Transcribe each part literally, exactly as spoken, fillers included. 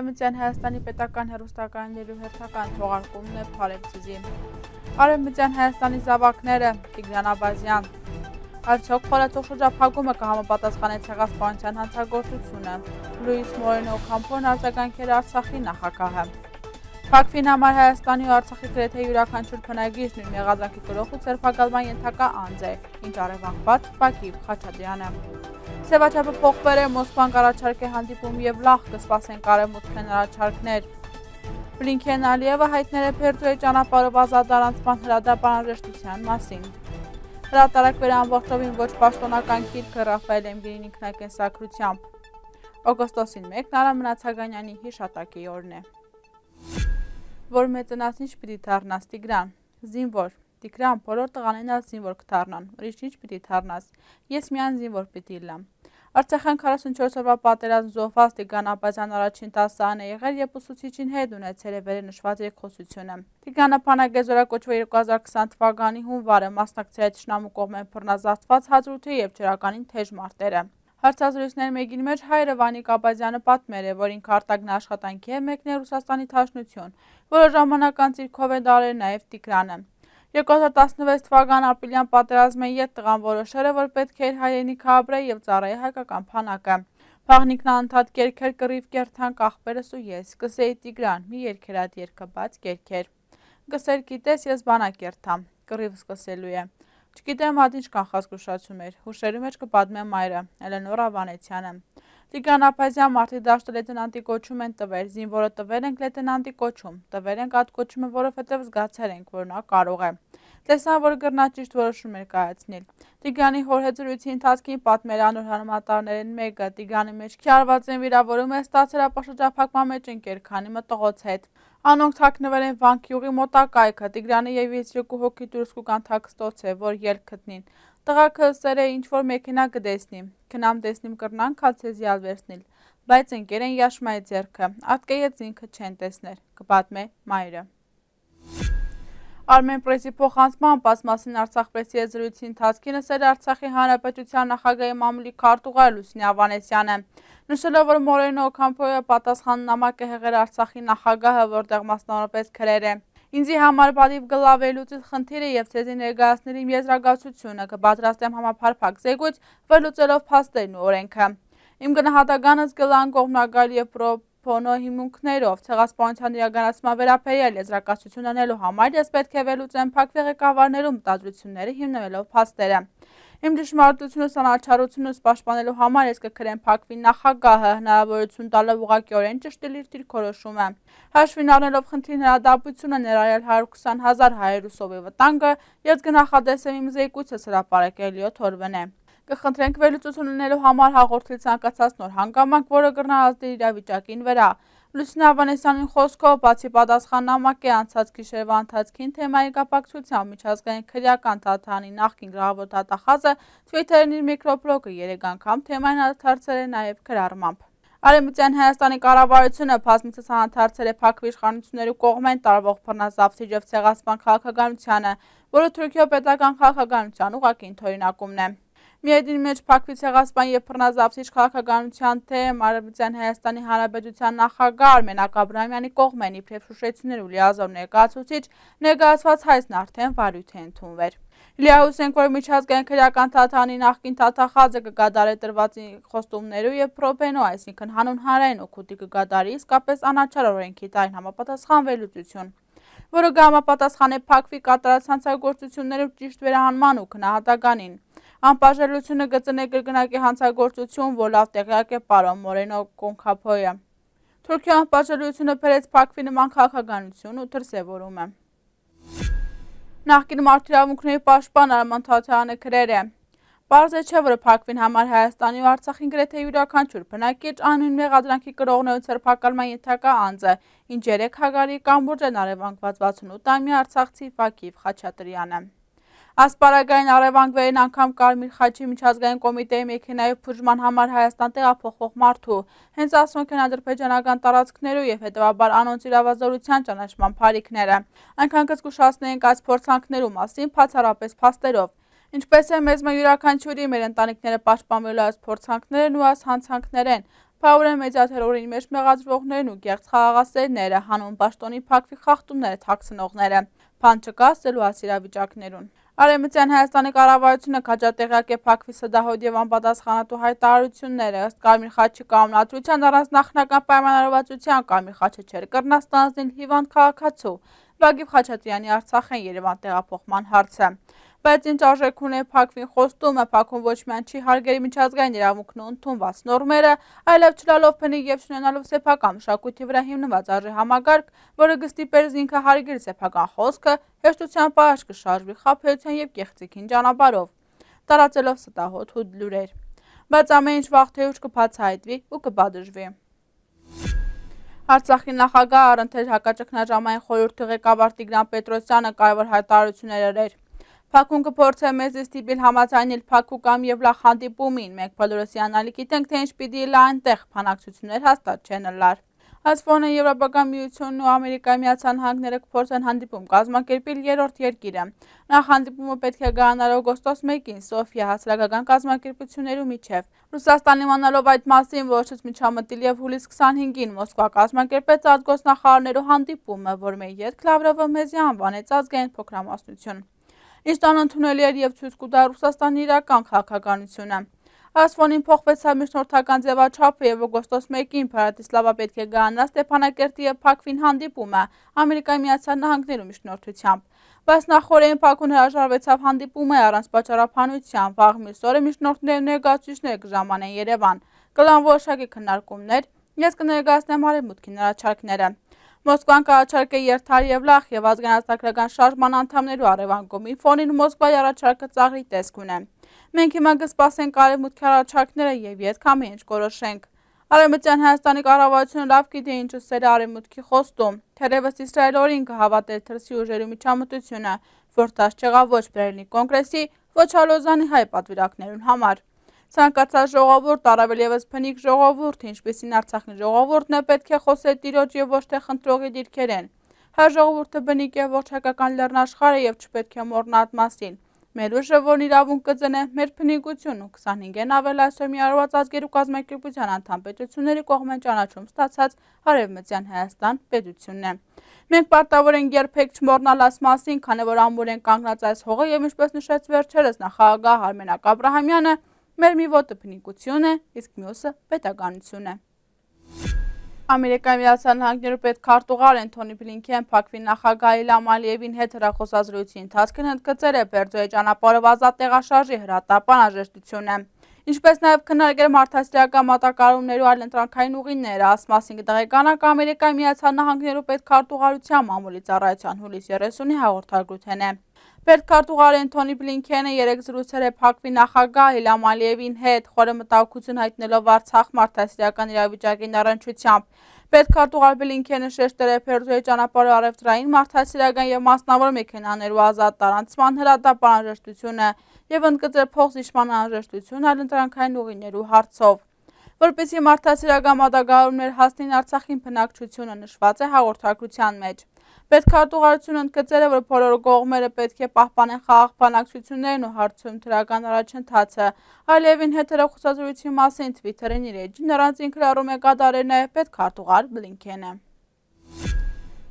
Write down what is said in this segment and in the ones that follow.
Արեւմտյան Հայաստանի պետական հեռուստակայաններու հերթական թողարկումն է, բարեւ ձեզի։ Արեւմտյան Հայաստանի զաւակները, Տիգրան Աբազեան։ Արդյոք խորացող շրջափակումը կը համապատասխանէ Ցեղասպանութեան հանցագործութիւնը։ Լուիս Մորենո Օքամփոն արձագանքեր Արցախի նախագահը։ Փակուին համար Հայաստանի ու Արցախի գրեթէ իւրաքանչիւր բնակիչ նոյն մեղադրանքի կրող ու ձերբակալման ենթակայ անձ է, ինչ առեւանգուած Վագիպ Խաչատրեանը։ Ձեւաչափը փոխուեր է, Մոսկվան կ'առաջարկէ հանդիպում եւ լախ կը սպասենք արեւմուտքէն առաջարկներ։ Բլինքեն Ալիևը հայտներ է Բերդոյի ճանապարհով ազատ առանցման հրադապ անհրաժեշտութեան մասին։ Հրատարակուեր է ամբողջովին ոչ պաշտոնական գիրքը Ռաֆայել Էմգինին ինքնակենսագրությամբ։ Օգոստոսին մեկն Արամ Մնացականյանի յիշատակի օրն է։ Որ մեծնաս, ինչ պիտի դառնաս, Տիգրան։ Զինվոր։ Տիգրան, բոլոր տղաներն ալ զինվոր կը դառնան, ուրիշ ինչ պիտի դառնաս։ Ես միայն զինվոր պիտի ըլլամ։ Արցախեան քառասունչորս օրուայ պատերազմ զոհուած Տիգրան Աբազեան առաջին դասարան է եղեր, երբ ուսուցիչին հետ ունեցել է վերը նշուած երկխօսութիւնը։ Տիգրանը բանակէ զօրակոչուեր երկու հազար քսան թվականի հունուարը, մասնակցել է թշնամու կողմէ բռնազավթուած հադրութի եւ ջրականին թեժ մարտերը։ Հարցազրույցներէն մէկին մէջ հայրը Վանիկ Աբազեանը պատմեր է, որ ինքը արտագնայ աշխատանքի է մեկնել Ռուսաստանի Դաշնութիւն, որը ժամանակ անց իր քովէ տարեր նաեւ Տիգրանը։ Երկու հազար տասնվեց թվական ապրիլեան պատերազմէն յետ տղան որոշեր է, որ պէտք է իր հայրենիքը ապրէ եւ ծառայէ հայկական բանակը։ Բաղնիքն անդադ կերքեր կռիվ կերթան կախ պերս ու ես, կ'ըսէի Տիգրան, մի երգեր ատ երգը, բայց կերքեր։ Կ'ըսէր, գիտես, ես բանակ երթամ, կռիվ սկսելու է։ Չգիտեմ, ատ ինչ կանխազգուշացում էր, հուշերու մեջ կը պատմեմ մայրը, Էլենորա Վանեցյանը։ Տիգրան Աբազեան մարդիկ դաշտը լեյտենանտի կոչում են տուեր, զինվորը տուեր ենք լեյտենանտի կոչում, տուեր ենք ատ կոչումը, որովհետեւ զգացեր ենք, որ նա կարող է։ Տեսան, որ կրնայ ճիշտ որոշումներ կայացնել։ Տիգրանի հոր հետ զրոյցի ընթացքին պատմեր անոր հանրամատառներէն մէկը, Տիգրանի մէջքի հարուածէն վիրաւորումը ստացեր ապաշրջափակման մէջ ընկեր քանի մտողոց հետ։ Անոնք թաքնուեր են Վանք գիւղի մօտակայքը, Տիգրանը եւ ես երկու հոգի դուրս կու գան թաքստոցէ, որ ելք գտնին։ Տղաքը ըսեր է, ինչ որ մեքենայ կը տեսնի, գնամ տեսնեմ կրնան քալ ձեզի ալ վերցնել, բայց ընկեր են Յաշմայի ձեռքը, ատկէ ետք ինքը չեն տեսներ, կը պատմէ մայրը։ Արմեն Պրեսի փոխանցմամբ, այս մասին Արցախ Պրեսի հետ զրույցի ընթացքին ըսել է Արցախի Հանրապետութեան նախագահի մամուլի քարտուղար Լուսինե Ավանեսյանը, նշելով, որ Մորենո Օքամփոյը պատասխան նամակ է յղեր Արցախի նախագահը, որտեղ մասնավորապես գրեր է. «Ինձի համար պատիւ կ'ըլլայ վերլուծիլ խնդիրը եւ ձեզի ներկայացնել իմ եզրակացութիւնը, կը պատրաստեմ համապարփակ զեկոյց, վերլուծելով փաստերն ու օրէնքը։ Իմ գնահատականս կ'ըլլայ անկողմնակալ եւ պրոբոնո հիմունքներով։ Ցեղասպանութեան իրականացման վերաբերյալ եզրակացութիւն ընելու համար ես պէտք է վերլուծեմ Փակուի ղեկավարներու մտադրութիւնները հիմնելով փաստերը։ Իմ ճշմարտութիւնս, անաչառութիւնս պաշտպանելու համար ես կը գրեմ Փակուի նախագահը, հնարաւորութիւն տալով ուղղակիօրէն ճշդել իր դիրքորոշումը։ Հաշուին առնելով խնդրին հրատապությունը, ներառյալ հարյուր քսան հազար հայերու սովի վտանգը, ես կը նախատեսեմ իմ զեկույցս հրապարակել յոթ օրուան է։ Կը խնդրենք վերլուծութիւն ընելու համար հաղորդել ցանկացած նոր հանգամանք, որը կրնայ ազդել իրավիճակին վրա»։ Լուսինե Ավանեսյանին խօսքով, բացի պատասխան նամակի, անցած գիշերուայ ընթացքին թեմային կապակցությամբ Միջազգային քրեական դատարանի նախկին գլխաւոր դատախազը Twitter-ին իր միկրոբլոգը երեք անգամ թեմային հարցեր է նաեւ գրառմամբ։ Արեւմտյան Հայաստանի կառավարութիւնը բազմիցս անդրադարձել է Փակուի իշխանութիւններու կողմէն տարուող բռնազավթիչ եւ ցեղասպան քաղաքականությանը, որը Թուրքիոյ պետական քաղաքականութեան ուղղակի ընդօրինակումն է։ Միեդին մէջ Փակուի ցեղասպան եւ բռնազավթիչ քաղաքականութեան դէմ Արեւմտյան Հայաստանի Հանրապետութեան նախագահ Արմեն Աբրահամեանի կողմէն իբրեւ շուշեցիւններ ու լիազոր ներկայացուցիչ ներկայացուած հայցն արդէն վարույթ է ընդունուեր։ Լիահոս ենք, որ Միջազգային քրեական դատարանի նախկին դատախազը կը կատարէ տրուած խոստումներու եւ պրոբենո, այսինքն՝ հանուն հանրային օգուտի կը կատարի իսկապես անաչառ օրէնքի տարին համապատասխան վերլուծութիւն, որը կը համապատասխանէ Փակուի կատարած հանցագործութիւններու ճիշտ վերահանման ու գնահատականին։ Անբաժանելիությունը կը ծնէ կրկնակի հանցագործութիւն, որ լաւ տեղեակ է պարոն Մորենո Օքամփոյը։ Թուրքիոյ անբաժանելիությունը բերեց Փակուի նման քաղաքականութիւն ու դրսեւորումը։ Նախկին մարդու իրաւունքների պաշտպան Արման Թաթյանը գրեր է. «Պարզ է, չէ՞, որ Փակուին համար Հայաստանի ու Արցախին գրեթէ իւրաքանչիւր բնակիչ անուն մեղադրանքի կրողներու ձերբակալման ենթակայ անձը, ինչ երեկ հակառի կամուրջեն առեւանգված վաթսուն ութ ամյա արցախցի Վագիպ Խաչատրեանը»։ Այս պարագային առեւանգ վերին անգամ Կարմիր խաչի միջազգային կոմիտեի մեքենայով բուժման համար Հայաստան տեղափոխվող մարդու, հենց ասոնք են ադրբեջանական տարածքներու եւ հետեւաբար անոնց իրաւազորութեան ճանաչման բարիքները։ Այնքան կը զգուշացնենք այս փորձանքներու մասին բացառապես փաստերով։ Ինչպես է մեզ մը յուրաքանչյուրի, մեր ընտանիքները պաշտպանվելու այս փորձանքներն ու այս հանցանքներէն, Բաուր են մեդիա թերորին մէջ մեղադրուողներն ու կեղծ խաղաղասերները, հանուն պաշտոնի փակուի խախտումները թաքցնողները, բան չկա ասելու այս իրավիճակներուն։ Արեւմտեան Հայաստանի կառավարութիւնը քաջատեղեակ է փակուի ստահոյթ եւ անպատասխանատու յայտարարութիւնները։ Ըստ Կարմիր խաչի կանոնադրութեան, առանց նախնական պայմանավորվածութեան Կարմիր խաչը չէր կրնայ ստանձնել հիւանդ քաղաքացու Ռագիվ Խաչատրեանի Արցախէն Երեւան տեղափոխման հարցը։ Բայց ինչ արժէք ունի փակուին խոստումը, փակուն ոչ միայն չի հարգեր միջազգային իրաւունքն ու ընդունուած նորմերը, այլեւ չլալով բնիկ եւ չունենալով սեփական մշակոյթի վրայ հիմնուած արժեհամակարգ, որը կստիպէր զինքը հարգել սեփական խօսքը, հեշտութեան պահանջ կը շարժուի խաբեության եւ կեղծիքին ճանապարհով, տարածելով ստահոդ ու լուրեր։ Բայց ամեն ինչ վաղ թե ուշ կը բացայայտուի ու կը պատժուի։ Արցախի նախագահ առընթեր հակաճգնաժամային խորհրդի ղեկավար Տիգրան Պետրոսյանը կարեւոր յայտարարութիւններ ըրեր։ Փակուն կը փորձէ մեզ ստիպիլ համաձայնել փակու կամ եւ լախ հանդիպումին։ Մենք բոլորս հիանալի գիտենք, թե ինչ պիտի ըլլայ այնտեղ, բանակցութիւններ հաստատ չեն ըլլար։ Այս ֆոնը Եվրոպական միությունն ու Ամերիկայի Միացյալ Նահանգները կփորձեն հանդիպում կազմակերպիլ երրորդ երկիրը։ Նախ հանդիպումը պէտք է գանար օգոստոս մէկին Սոֆիա հասարակական կազմակերպություններու միջեւ։ Ռուսաստան իմանալով այդ մասին, որոշեց միջամտիլ եւ հուլիս քսանհինգին Մոսկվա կազմակերպեց արտգործնախարարներու հանդիպումը, որ մեր ետք Լավրովը մեզի անուանեց ազգային փոքրամասնություն։ Իշտան ընդունելի էր եւ ցոյց կու տայ Ռուսաստանի իրական քաղաքականութիւնը։ Այս ֆոնին փոխուեցաւ միջնորդական ձեւաչափը եւ օգոստոս մէկին Բրատիսլավա պէտք է գանար Ստեփանակերտի եւ Բաքվին հանդիպումը Ամերիկայի Միացյալ Նահանգներու միջնորդությամբ։ Բայց նախօրէն Բաքուն հրաժարուեցաւ հանդիպումը առանց պատճառաբանության։ Վաղ մյուս օրը միջնորդներու ներկայացուցիչները կը ժամանեն Երեւան։ Կլան որոշակի քննարկումներ։ Ես կը ներկայացնեմ Արեւմուտքին առաջարկները։ Մոսկվան կառաջարկէ երթար եւ լախ եւ ազգանացակրական շարժման անդամներու առեւանգումի ֆոնին Մոսկվայի առաջարկը ծաղրի տեսք ունէ։ Մենք հիմա կը սպասենք Արեւմուտքի առաջարկները եւ ետք ամեն ինչ կորոշենք։ Արեւմտեան Հայաստանի կառավարութիւնը լաւ գիտէ ինչ ըսել է Արեւմուտքի խոստում։ Թերեւս Իսրայէլը օրին կը հաւատէր թրսի ուժերու միջամտութիւնը, որ դաս չեղաւ ոչ Բերլինի կոնկրեսի, ոչ ալ Լոզանի հայ պատվիրակներուն համար։ Ցանկացած ժողովուրդ, առավել եւս բնիկ ժողովուրդ, ինչպիսին Արցախի ժողովուրդն է, պէտք է խօսէ տիրոջ եւ ոչ թե խնդրողի դիրքերէն։ Հայ ժողովուրդը բնիկ է ողջ հայկական լեռնաշխարհը եւ չպէտք է մոռնայ այդ մասին։ Մեր ուժը, որն իրաւունք կը ծնէ, մեր բնիկությունն ու քսանհինգէն աւել այսօր Միավորուած Ազգերու Կազմակերպութեան անդամ պետութիւնների կողմէն ճանաչում ստացած Արեւմտեան Հայաստան պետութիւնն է։ Մենք պարտաւոր ենք երբեք չմոռնալ այս մասին, քանի որ ամուր են կանգնած այս հողը եւ, ինչպես նշեց վերջերս նախագահ Արմենակ Աբրահամեանը, մեր մի ոտը բնիկություն է, իսկ մյուսը պետականություն է։ Ամերիկայի Միացյալ Նահանգներու պետքարտուղար Էնթոնի Բլինքեն Բաքվի նախագահ Իլհամ Ալիևին հետ հեռախօսազրույցի ընթացքին ընդգծեր է Պերձոյի ճանապարհով ազատ տեղաշարժի հրատապ անհրաժեշտությունը, ինչպես նաեւ քննարկել մարդասիրական մատակարարումներու այլ ընտրանքային ուղիները։ Այս մասին կտեղեկանանք Ամերիկայի Միացյալ Նահանգներու պետքարտուղարության մամուլի ծառայության հուլիս երեսունի հաղորդագրութենէ։ Պետքարտուղար Էնթոնի Բլինքենը երեկ զրուցել է Բաքվի նախագահ Իլհամ Ալիևին հետ, խորը մտահոգութիւն յայտնելով Արցախ մարդասիրական իրավիճակին առնչությամբ։ Պետքարտուղար Բլինքենը շեշտել է Պերձոյի ճանապարհի առեւտրային, մարդասիրական եւ մասնավոր մեքենաներու ազատ տարանցման հրատապ անհրաժեշտությունը եւ ընդգծել փոխզիջման անհրաժեշտությունը այլ ընտրանքային ուղիներու հարցով, որպեսզի մարդասիրական մատակարարումներ հասնին Արցախին բնակչությունը, նշուած է հաղորդագրութեան մէջ։ Պետքարտուղարութիւնը ընդգծել է, որ բոլոր կողմերը պէտք է պահպանեն խաղաղ բանակցութիւններն ու հարցում դրական առաջընթացը։ Ալիևին հետ հեռախօսազրույցի մասին Twitter-ին իր էջին առանձին գրառում է կատարել նաեւ պետքարտուղար Բլինքենը։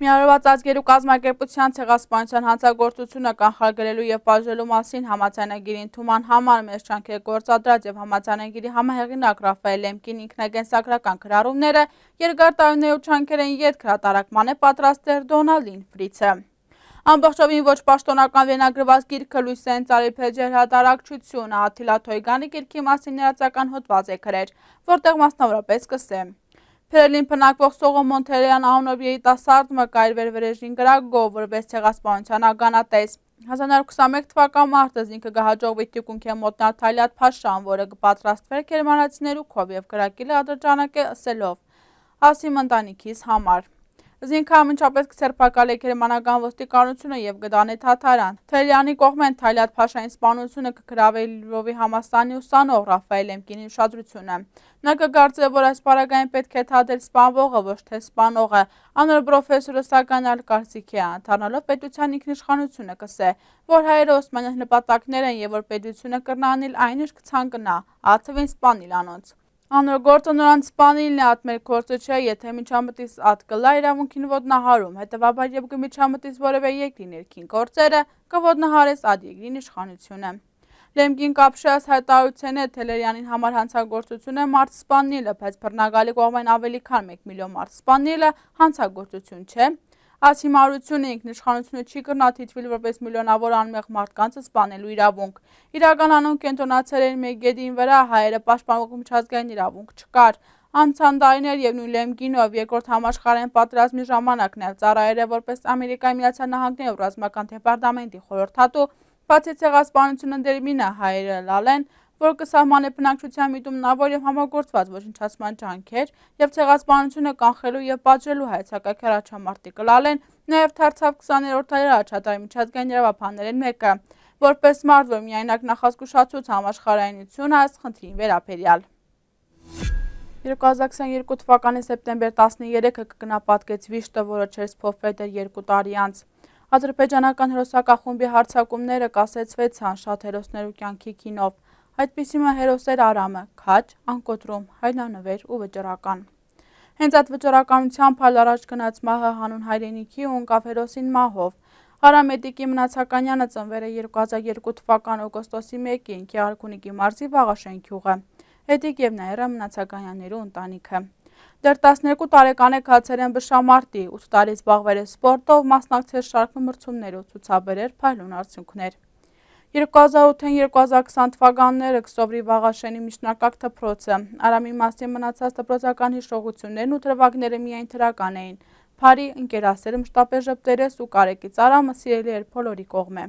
Միավորուած Ազգերու Կազմակերպութեան ցեղասպանութեան հանցագործութիւնը կանխարգելելու եւ պատժելու մասին համաձայնագիրի ընդունման համար մեր ջանքերը գործադրած եւ համաձայնագիրի համահեղինակ Ռաֆայել Լեմկին ինքնակենսագրական գրառումները երկար տարիներու ջանքերէն ետք հրատարակման է պատրաստել Դոնալդին Ֆրիցը։ Ամբողջովին ոչ պաշտոնական վերնագրուած գիրքը լոյս է ընծայ Փեջեր հրատարակչությունը։ Աթիլա Թոյգանի գիրքի մասին ներածական հոդված է գրեր, որտեղ մասնավորապես կսե. Բերլին բնակվող Սողոմոն Թերեան անունով երիտասարդ մը կայ իր վերվերեժին կրակով, որպես ցեղասպանության ականատես։ Հազար քսանմեկ թվական մարտը զինքը կը հաջողվի թիկունքէ մոտնալ Թալիատ Փաշան, որը կը պատրաստվեր գերմանացիներու քով եւ կրակի ladder ջանակ է ըսելով. «Ասիմ ընտանիքիս համար»։ Զինքը ամենջապես կսերբակալէ գերմանական ոստիկանությունը եւ կտանէ Թաթարան։ Թելյանի կողմէն Թալիատ Փաշային սպանությունը կը գրաւէ Լվովի համալսարանի ուսանող Ռաֆայել Լեմկինի ուշադրությունը։ Նա կը կարծէ, որ այս պարագային պէտք է թատել սպանվողը, ոչ թե սպանողը։ Անոր պրոֆեսորը, սակայն, այլ կարծիքի է, անդառնալով պետութեան ինքնիշխանությունը, կսե, որ հայերը օսմանյան նպատակներ են եւ որ պետությունը կրնայ անել այն, ինչ կցանկանայ, ա թուին սպանել անոնց։ Անոր գործը նորան սպանիլն է, ատ մեր գործը չէ, եթե միջամտիս ատ կլա իրաւունքին ոտնահարում, հետեւաբար երբ կը միջամտիս որեւէ երկրի ներքին գործերը, կը ոտնահարես ատ երկրին իշխանությունը։ Լեմկին կապշած հայտարարութենէ Թելերյանին համար հանցագործություն է մարդ սպաննիլը, բայց բռնակալի կողմէն ավելի քան մէկ միլիոն մարդ սպաննիլը հանցագործություն չէ։ Այս հիմարությունը ինքնիշխանությունը չի կրնա դիտուիլ որպես միլիոնավոր անմեղ մարդկանց սպանելու իրաւունք։ Իրական անուն կենտրոնացել են մէկ գետին վրա, հայերը պաշտպանող միջազգային իրաւունք չկար։ Անցան տարիներ եւ նոյն Լեմկինով երկրորդ համաշխարհային պատերազմի ժամանակ նաեւ ծառայել է որպես Ամերիկայի Միացյալ Նահանգներու ռազմական դեպարտամենտի խորհրդատու, բացի ցեղասպանությունը դերմինը հայերը լալեն, որ կը սահմանէ բնակչության միտումնաւոր եւ համագործված ոչնչացման ջանքեր եւ ցեղասպանությունը կանխելու եւ պատժելու հայ ցակակերաչամարտի կլալեն, նաեւ դարձաւ քսաներորդ դարի առաջատար միջազգային իրաւաբաններէն մէկը, որպես մարդ, որ միայնակ նախազգուշացուց համաշխարհայնություն այս խնդրին վերաբերեալ։ Երկու հազար քսաներկու թվականի սեպտեմբեր տասներեքը կը գնապատկեց վիշտը, որը չերսփոխվել էր երկու տարի անց։ Ադրբեջանական հերոսակախումբի հարձակումները կասեցուեցան շատ հերոսներու կեանքի գինով։ Այդպիսի մը հերոս էր Արամը, քաջ, անկոտրում, հայրենանվեր ու վճռական։ Հենց այդ վճռականությամբ հալ առաջ գնաց մահը հանուն հայրենիքի ու ընկավ հերոսին մահով։ Արամ Էտիկի Մնացականյանը ծնվել է երկու հազար երկու թվական օգոստոսի մեկին Գեղարքունիքի մարզի Վաղաշեն գիւղը։ Էտիկ եւ Նաիրա Մնացականյաններու ընտանիքը։ Դեռ տասներկու տարեկան է գացել են բշամարտի, ութ տարի զբաղվել է սպորտով, մասնակցել շարք մրցումներու, ցուցաբերել փայլուն արդյունքներ։ Երկու հազար ութ երկու հազար քսան թվականները կը սովրի Վաղաշենի միջնակարգ դպրոցը։ Արամի մասին մնացած դպրոցական հիշողություններն ու դրուագները միայն դրական էին։ Բարի ընկերասեր, մշտապես ժպտերես ու կարեկից Արամը սիրելի էր բոլորի կողմէ։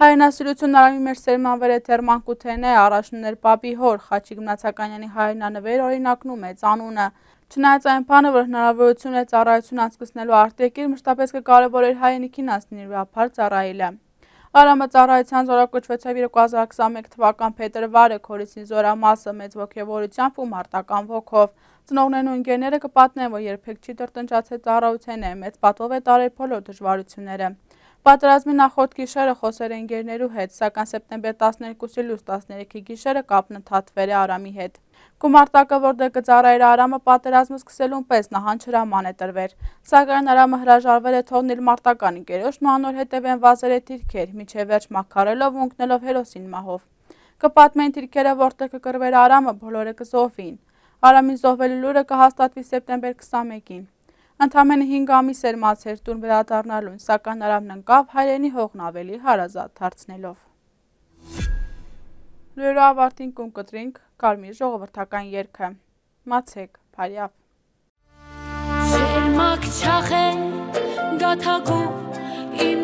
Հայրենասիրությունն Արամի մեջ սերմանվել է դեռ մանկութենէ, առաջնուներ պապի հոր, Խաչիկ Մնացականյանի հայրենանվեր օրինակն ու մեծ անունը։ Չնայած այն բանը, որ հնարավորություն է ծառայություն անցկցնելու արտերկիր, մշտապես կը կարևորէր հայրենիքին անցնելու ապար ծառայելը։ Արամը ծառայության զորակոչուեցաւ երկու հազար քսանմեկ թվական փետրվարը, Քորիսին զորամասը, մեծ ոգեւորությամբ ու մարտական ոգով։ Ծնողներն ու ընկերները կը պատմեն, որ երբեք չի տրտնջացել ծառայութենէ, մեծ պատվով է տարել բոլոր դժվարությունները։ Պատերազմի նախորդ գիշերը խօսեր է ընկերներու հետ, սակայն սեպտեմբեր տասներկուսի լույս տասներեքի գիշերը կապն ընդհատվել է Արամի հետ։ Գումարտակը, որտեղ կը ծառայէր Արամը, պատերազմը սկսելուն պէս նահանջ հրաման է տրվել, սակայն Արամը հրաժարվել է թողնել մարտական ընկերոջն ու անոր հետեւէն վազել է դիրքեր, մինչեւ վերջ մաքարելով ու ընկնելով հերոսին մահով։ Կը պատմեն դիրքերը, որտեղ կը կռուէր Արամը, բոլորը կը զոհվին։ Արամի զոհվելու լուրը կը հաստատուի սեպտեմբեր քսանմեկին։ Ընդամենը հինգ ամիս էր մացեր տուն վերադառնալուն, սակայն Արամն ընկաւ հայրենի հողն ավելի հարազատ դարձնելով։ Լուրերու ավարտին կուն կտրինք Կարմիր ժողովրդական երգը։ Մացեք, բարեաւ։ Սերմակ չախ է գաթակու իմ